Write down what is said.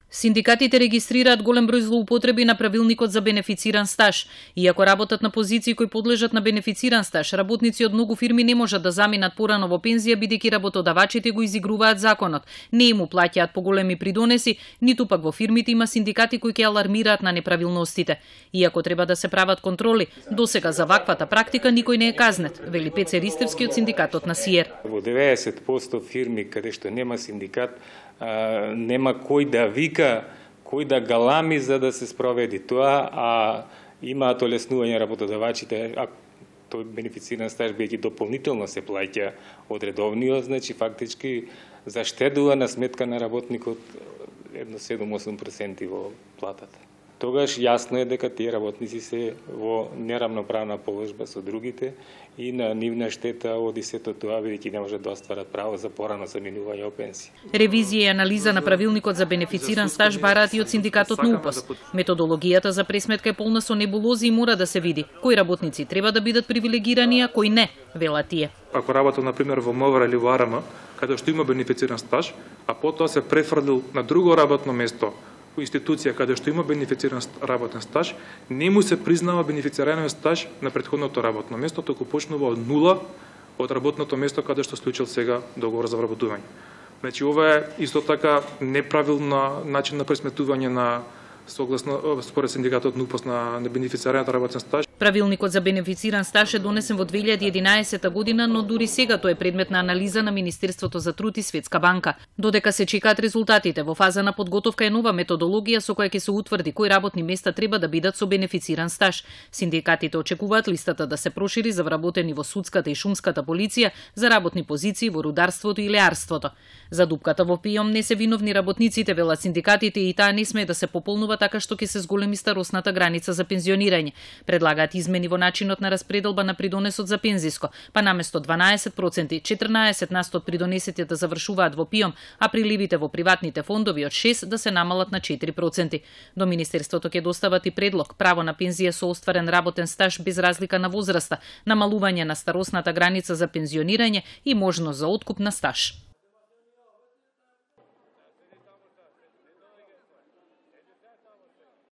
Синдикатите регистрираат голем број злоупотреби на правилникот за бенефициран стаж. Иако работат на позиции кои подлежат на бенефициран стаж, работници од многу фирми не можат да заминат порано во пензија бидејќи работодавачите го изигруваат законот. Не им плаќаат поголеми придонеси, ниту пак во фирмите има синдикати кои ќе алармираат на неправилностите. Иако треба да се прават контроли, досега за ваквата практика никој не е казнет, вели Пеце Ристевски од синдикатот на СИЕР. Во 90% фирми каде што нема синдикат, нема кој да вика, кој да галами за да се спроведи тоа, а имаат олеснување работодавачите, а тој бенефициран стаж бидејќи дополнително се плаќа од редовниот, значи фактички заштедува на сметка на работникот едно 7-8% во платата. Тогаш јасно е дека тие работници се во неравноправна положба со другите и на нивна штета оди сето тоа бидејќи не можат да остварат право за порано заминување во пенсија. Ревизија и анализа на правилникот за бенефициран стаж бараат и од синдикатот на УПОС. Методологијата за пресметка е полна со небулози и мора да се види кои работници треба да бидат привилегирани, а кои не, велат тие. Ако работел на пример во МВР или во АРМ, каде што има бенефициран стаж, а потоа се префрлил на друго работно место, институција каде што има бенефициран работен стаж, не му се признава бенефицираниот стаж на претходното работно место, току почнува од нула од работното место каде што склучил сега договор за вработување. Значи ова е исто така неправилна начин на пресметување на согласно според синдикатот на УПОС на бенефицираниот работен стаж. Правилникот за бенефициран стаж е донесен во 2011 година, но дури сега тој е предмет на анализа на Министерството за труд и Светска банка. Додека се чекаат резултатите, во фаза на подготовка е нова методологија со која ќе се утврди кои работни места треба да бидат со бенефициран стаж. Синдикатите очекуваат листата да се прошири за вработени во судската и шумската полиција, за работни позиции во рударството и леарството. За дупката во ПИОМ не се виновни работниците, велат синдикатите, и таа не смее да се пополнува така што ќе се зголеми старосната граница за пензионирање. Предлагаат измени во начинот на распределба на придонесот за пензиско, па наместо 12%, 14% од придонесите да завршуваат во ПИОМ, а приливите во приватните фондови од 6% да се намалат на 4%. До Министерството ќе достават и предлог право на пензија со остварен работен стаж без разлика на возраста, намалување на старосната граница за пензионирање и можност за откуп на стаж.